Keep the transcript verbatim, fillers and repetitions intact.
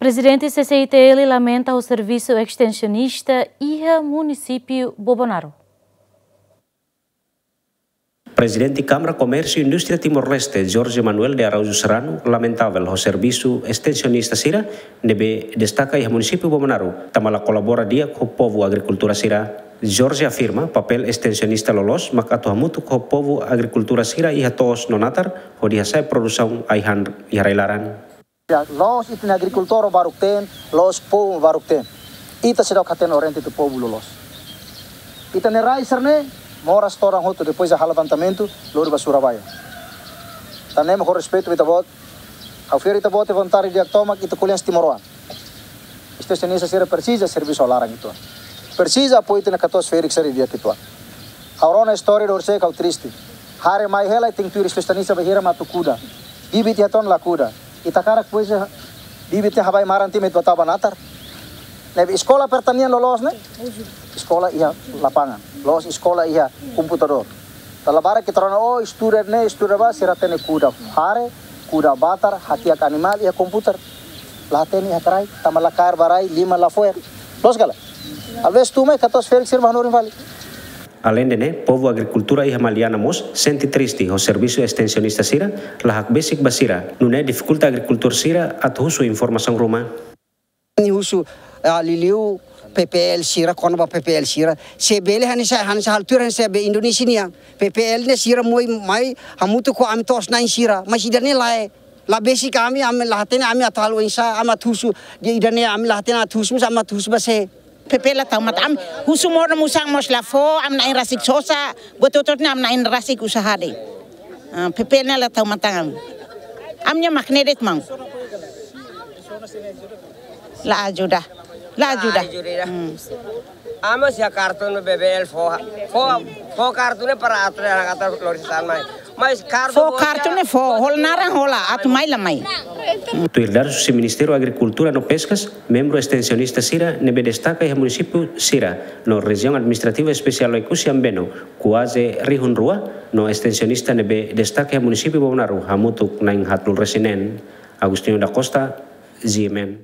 Prezidente C C I T L lamenta ho servisu estensionista iha munisípiu Bobonaro. Prezidente Kámara Komérsiu Indústria Timor-Leste, Jorge Manuel de Araújo Serrano, lamentavel ho servisu estensionista sira ne'ebé destaka iha munisípiu Bobonaro, tanba la kolabora di'ak ho povu agrikultura sira. Jorge afirma, papél estensionista loloos mak atu hamutuk ho povu agrikultura sira iha to'os no natar, hodi hasa'e produsaun ai-han iha rai-laran. Ya, loos ita-nia agrikultór baruk-teen, loos povu baruk-teen. Ita seidauk hatene oriente ita-nia povu loloos. Ita-nia rai sira-ne'e, moras todan hotu, depois halo levantamentu, lori ba Surabaya. Tan ne'e mak ho respeitu ba ita-boot, ha'u fiar ita-boot iha vontade di'ak tomak, ita ko'alia timoroan. Estensionista sira presiza servisu ha'u laran uitoan. Presiza apoiu ita-nia katuas-ferik sira di'ak uitoan. Ha'u rona istória ida horisehik ha'u triste. Haree mai hela ita-nia tuir estensionista bainhira mak atu kuda. Bibi tiha ton la kuda. Ita hakarak pois bibit ne'e habai maran tiha mai atu bá natar. Ne'ebé eskola pertanian loloos ne'e? Eskola iha lapangan. Loos eskola iha komputadór. Tanba barak ita rona, oh, estuda ne'e, estuda bá, sira hatene kuda haree, kuda batar, hati'ak animál iha komputer. La hatene iha kraik, tanba la kaer ba rai, liman la fo'er. Loos ka lae? Alvés tun mai katuas-ferik sira mak hanorin fali. Aleinde ne'e, povu agrikultura iha Maliana mós sente triste ho servisu estensionista sira la hakbesik ba sira, nune'e difikulta agrikultór sira atu husu informasaun ruma. Nia husu, ah, liuliu P P L sira, kona-ba P P L sira. Se bele hanesan, hanesan halo tuir hanesan be Indonézia nian. P P L ne'e sira moe mai hamutuk ho ami to'os-na'in sira. Mas ida-ne'e lae. La besik ami, ami la hatene ami atu halo oinsá, ami atu husu. Ida-ne'e ami la hatene atu husu, mas ami atu husu ba sé. P P L la tau matan ami. Husu modo musang mós la fó, ami na'in rasik sosa, buat hotu-hotu ne'e ami na'in rasik usaha de'it. Ah, P P L ne'e la tau matan ami. Ami-nia mak ne'e de'it maun. La ajuda. La ajuda. La ajuda. Hmm. Ami sei kartun B B L fó, fó, fó kartun ne'e para atu atu lori sasán mai. Mas kartun fó, kartun ne'e fó, hola naran hola, atu mai la mai. Tuir dadus husi Ministériu Agrikultura no Peskas, membru estensionista sira ne'ebé destaka iha munisípiu sira no Rejiaun Administrativa Espesiál Oekusi Ambeno, kuaze rihun rua, no estensionista ne'ebé destaka iha munisípiu Bobonaro hamutuk na'in haatnulu-resin-neen. Agostinho da Costa, G M N.